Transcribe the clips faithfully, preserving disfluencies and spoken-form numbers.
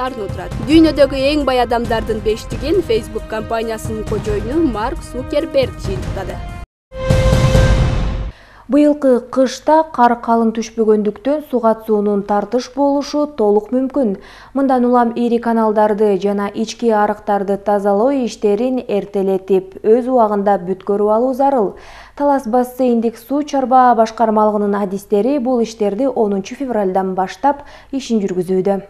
тартынуу турат. Дүйнөдөгү эң бай адамдардын бештигин Facebook компаниясынын кожоюну Марк Цукерберг жыйынтыктады. Быйылкы кышта кар калың түшпөгөндүктөн сугат суунун тартыш болушу толук мүмкүн. Мындан улам ири каналдарды жана ички арыктарды тазалоо иштерин эртелетип, өз убагында бүткөрүп алуу зарыл. Талас бассейндик суу чарба башкармалыгынын адистери бул иштерди онунчу февралдан баштап ишин жүргүзүүдө.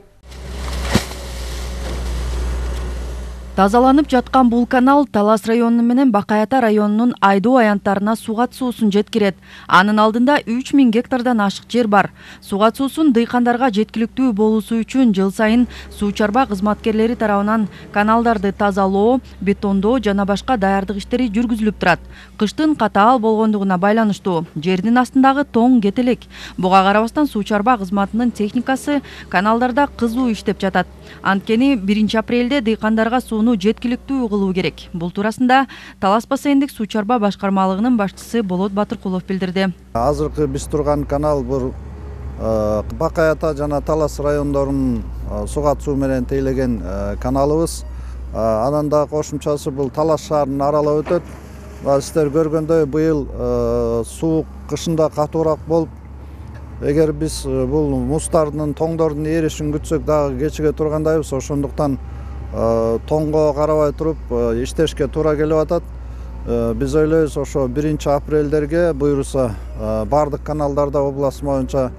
Тазаланып жаткан бул канал Талас району менен Бакаята районунун айдоо аянттарына сугат суусун жеткирет. Анын алдында үч миң гектардан ашык жер бар. Сугат суусун дыйкандарга жеткиликтүү болуусу үчүн жыл сайын суу чарба кызматкерлери тарабынан каналдарды тазалоо, бетондоо жана башка даярдык иштери жүргүзүлүп турат. Кыштын катаал болгондугуна байланыштуу жердин астындагы тоң кетелек. Буга карабастан суу чарба кызматынын техникасы каналдарда кызуу иштеп жатат. Анткени биринчи апрелде дыйкандарга сууну жеткиликтүү кылуу керек. Бул туурасында Талас бассейндик суу чарба башкармалыгынын башчысы Болот Батыркулов билдирди. Азыркы биз турган канал бул Бакаята жана Талас райондорунун сугат суу менен тейлеген каналыбыз. Анан да кошумчасы бул Талас шаарын аралап өтөт. Сиздер көргөндөй быйыл суук кышында катуураак болуп, эгер биз бул муздардын, тоңдордун эришин күтсөк дагы кечиге тургандайбыз. Ошондуктан тоңго карабай туруп иштешке туура келип атат. Биз ойлойбуз, ошо биринчи апрелдерге буйруса бардык каналдарда область боюнча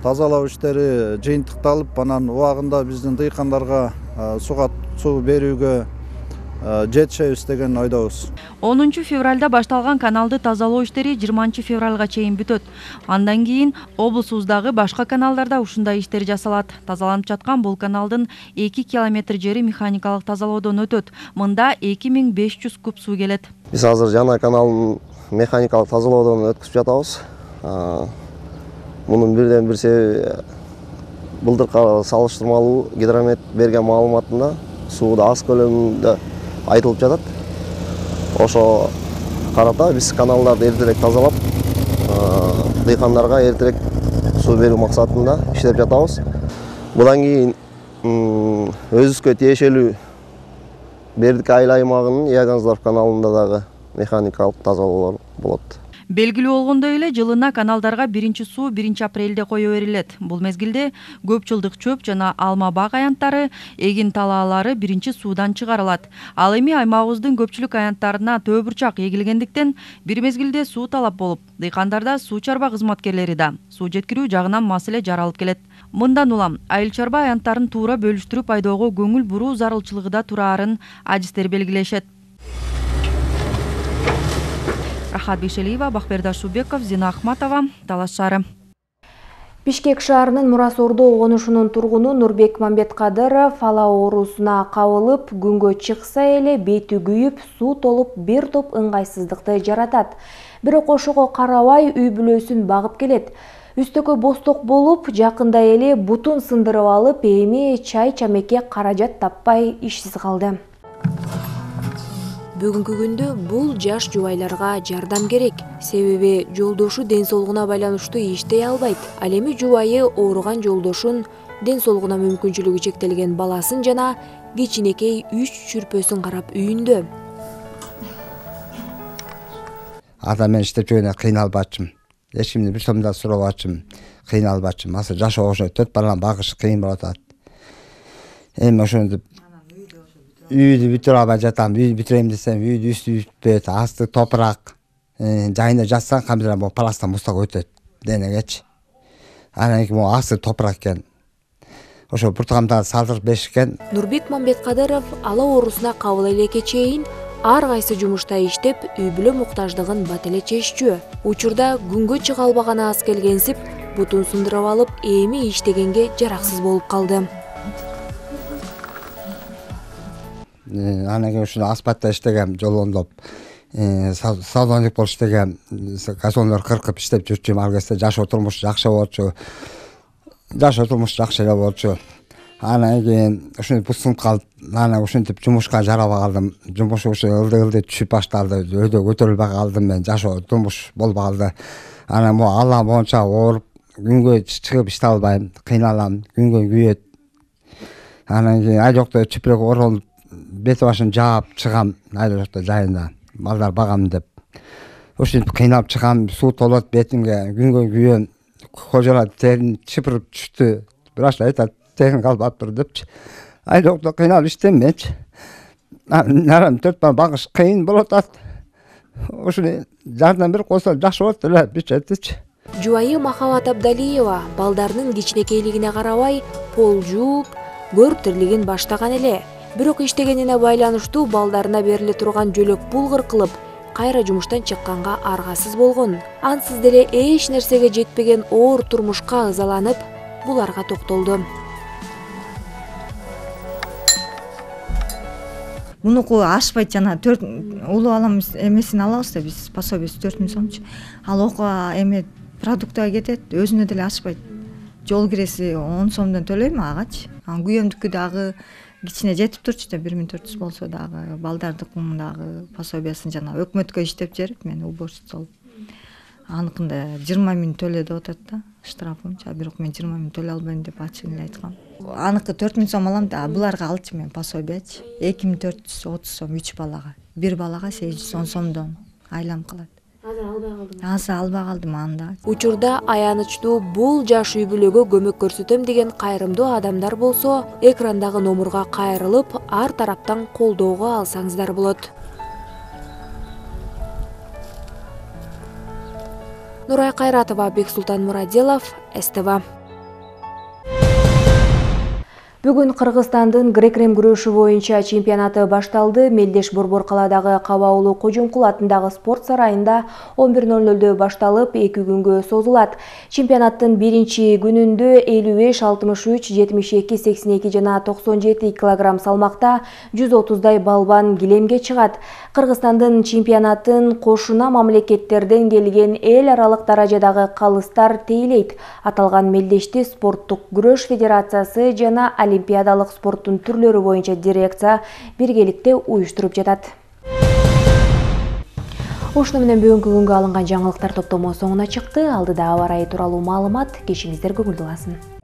тазалоо иштери жыйынтыкталып, анан убагында биздин дыйкандарга сугат суу берүүгө жетишебиз деген ойдобуз. онунчу февралда башталган каналды тазалоо иштери жыйырманчы февралга чейин бүтөт. Андан кийин облусубуздагы башка каналдарда ушундай иштер жасалат. Тазаланып жаткан бул каналдын эки километр жери механикалык тазалоодон өтөт. Мында эки миң беш жүз куб суу келет. Биз азыр жана каналдын механикалык тазалоодон өткүзүп жатабыз. Мунун бирден бир себеби былтыркы салыштырмалуу гидромет берген маалыматында сууда аз көлөмүндө айтылып жатат. Ошо карата биз каналдарды эртерээк тазалап, дыйкандарга эртерээк суу берүү максатында иштеп жатабыз. Будан кийин өзүбүзгө тиешелүү Бердик айыл аймагынын Яганзлав каналында дагы механикалык тазалоолор болот. Белгилүү болгондой эле жылына каналдарга биринчи суу биринчи апрелде кое берилет. Бул мезгилде көп жылдык чөп жана алма бак аянттары, эгин талаалары биринчи суудан чыгарылат. Ал эми аймагыбыздын көпчүлүк аянттарына төө бурчак эгилгендиктен бир мезгилде суу талап болуп, дыйкандарда суу чарба кызматкерлери да суу жеткирүү жагынан маселе жаралып келет. Мындан улам айыл чарба аянттарын туура бөлүштүрүп айдоого көңүл буруу зарылчылыгы да тураарын адистер белгилешет. Рахат Бишелиева, Бакбердаш Шубеков, Зина Ахматова, Талас шаары. Бишкек шаарынын Мурасордо конушунун тургуну Нурбек Мамбеткадыров ала оорусуна кабылып, күнгө чыкса эле бети күйүп, суу толуп, бир топ ыңгайсыздыкты жаратат. Бирок ошого карабай үй бүлөсүн багып келет. Үстөкө босток болуп, жакында эле бутун сындырып алып, эми чай чамекке каражат таппай ишсиз калды. Бүгүнкү күндө бул жаш жубайларга жардам керек. Себеби жолдошу ден соолугуна байланыштуу иштей албайт. Ал эми жубайы ооруган жолдошун, ден соолугуна мүмкүнчүлүгү чектелген баласын жана кичинекей үч чүрпөсүн карап үйүндө. Ата мен иштеп жүргөндө кыйналбачым. Эч кимди бир сомдон сурабачым, кыйналбачым. Азыр жаш ошо төрт баланы багыш кыйын болуп атат. Эми ошондо үйдү бүтүрө албай жатам. Үйдү бүтүрөм десем, үйдү үстү бүтпөйт, асты топурак. Жайында жатсаң камера бул пластан мустак өтөт денегечи. Анан кийин бул асты топурак экен. Ошо буртугамда салдырып беришкен. Нурбек Мамбеткадыров ала оорусуна кабыл элекке чейин ар кайсы жумушта иштеп, үй бүлө муктаждыгын бат эле чеччү. Учурда күнгө чыга албаганы аз келгенсип, бутун сындырып алып, эми иштегенге жараксыз болуп калды. Анан кийин ушуну асфальтта иштегем, жолондоп, салондик болуп иштегем, газондор кыркып иштеп жүрчүм. Ал кезде жашоо турмуш жакшы болчу. Жашоо турмуш жакшы эле болчу. Анан кийин ушинтип бутсунуп калып, анан ушинтип жумушка жарабай калдым. Жумуш ушу ылды-ылды түшүп башталды. Өйдө көтөрүлбөй калдым мен, жашоо турмуш болбой калды. Анан бу Алла боюнча ооруп, күнгө чыгып иштей албайм, кыйналам, күнгө күйөт. Анан кийин айдоокто чүпүрөккө оролуп бети башын жаап чыгам айдоокто жайында балдар багам деп. Ушинтип кыйналып чыгам, суу толот бетимге, күнгө күйөм. Кожолар терин чыпырып түштү. Врач айтат, терин калбаптыр депчи. Айдоокто кыйналып иштемечи. Нарам төрт бала багыш кыйын болот атат. Ушуну жардам берип койсо жакшы болот эле бюджетичи. Жубайы Махабат Абдалиева балдарынын кичинекейлигине карабай пол жууп, көр тирлигин баштаган эле. Бирок иштегенине байланыштуу балдарына бериле турган жөлөк булгыр кылып, кайра жумуштан чыкканга аргасыз болгон. Ансыз деле эч нерсеге жетпеген оор турмушка ызаланып, буларга токтолду. Мунуку ашпайт, жана төрт улуу балам эмесин алабыз да биз, пособиясы төрт миң сомчу. Ал окууга эме продуктага кетет, өзүнө деле ашпайт. Жол киреси он сомдон төлөйм агачы. Анан күйөөмдүкү дагы кичине жетип турчу да бир миң төрт жүз болсо дагы балдардыкын дагы пособиясын жана өкмөткө иштеп берип мен уборщица болуп. Аныкында жыйырма миң төлө деп атат да штрафынча, бирок мен жыйырма миң төлөй албайм деп ачык эле айткам. Аныкы төрт миң сом алам да, буларга алчу мен пособиячы. эки миң төрт жүз отуз сом үч балага. Бир балага сегиз жүз он сомдон айлам калат. Азыр албай калдым. Азыр албай калдым анда. Учурда аянычтуу бул жаш үй бүлөгө көмөк көрсөтөм деген кайрымдуу адамдар болсо, экрандагы номурга кайрылып, ар тараптан колдоого алсаңыздар болот. Нурай Кайратова, Бексултан Мураделов, эс тэ вэ. Бүгүн Кыргызстандын грек-рим күрөшү боюнча чемпионаты башталды. Мелдеш Борбор каладагы Кабаулу Кожумкул атындагы спорт сарайында он бир ноль нөлдө башталып, эки күнгө созулат. Чемпионаттын биринчи күнүндө элүү беш, алтымыш үч, жетимиш эки, сексен эки жана токсон жети килограмм салмакта жүз отуздай балбан килемге чыгат. Кыргызстандын чемпионатын кошуна мамлекеттерден келген эл аралык даражадагы калыстар тейлейт. Аталган мелдешти спорттук күрөш федерациясы жана олимпиадалык спорттун түрлөрү боюнча дирекция биргеликте уюштуруп жатат. Ушуну менен бүгүнкү күнгө алынган жаңылыктар топтому соңуна чыкты. Алдыда аба ырайы тууралуу маалымат. Кешиңиздер көңүлдүү болсун.